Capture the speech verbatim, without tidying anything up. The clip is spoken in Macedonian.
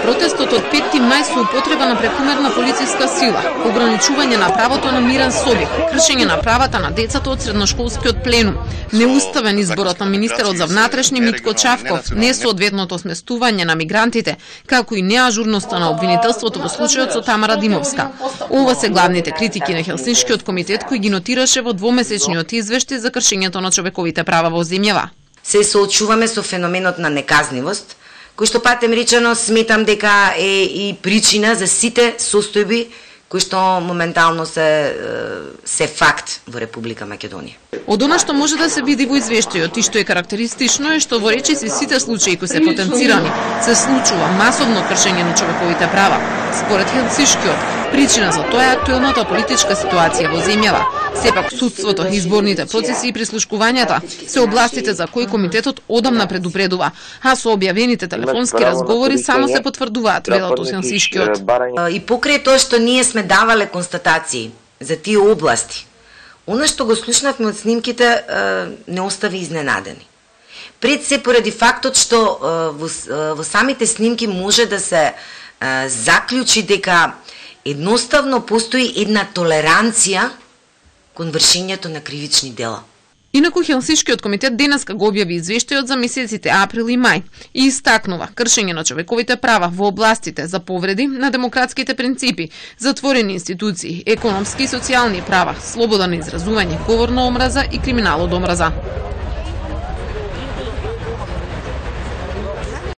Протестот од петти мај со употреба на прекумерна полициска сила, ограничување на правото на мирен собир, кршење на правата на децата од средношколскиот пленум, неуставен изборот на министерот за внатрешни Митко Чавков, несоодветното сместување на мигрантите, како и неажурноста на обвинителството во случајот со Тамара Димовска. Ова се главните критики на Хелсиншкиот комитет кој ги нотираше во двомесечниот извештај за кршењето на човековите права во земјава. Се соочуваме со феноменот на неказнивост, кој што патем речено сметам дека е и причина за сите состојби кои што моментално се се факт во Република Македонија. Од она што може да се види во извештајот и што е карактеристично е што во речиси сите случаи кои се потенцирани се случува масовно кршење на човековите права. Според Хелсиншкиот, причина за тоа е актуелната политичка ситуација во земјава. Сепак судството, изборните процеси и прислушкувањата се областите за кои комитетот одамна предупредува, а со објавените телефонски разговори само се потврдуваат, велат од Хелсиншкиот. И покрај тоа што ние сме давале констатации за тие области, она што го слушнавме од снимките не остави изненадени. Пред се поради фактот што во, во самите снимки може да се заклучи дека едноставно постои една толеранција кон вршењето на кривични дела. Инаку Хелсиншкиот комитет денеска го објави извештајот за месеците април и мај и истакнува кршење на човековите права во областите за повреди на демократските принципи, затворени институции, економски и социјални права, слобода на изразување, говор на омраза и криминал од омраза.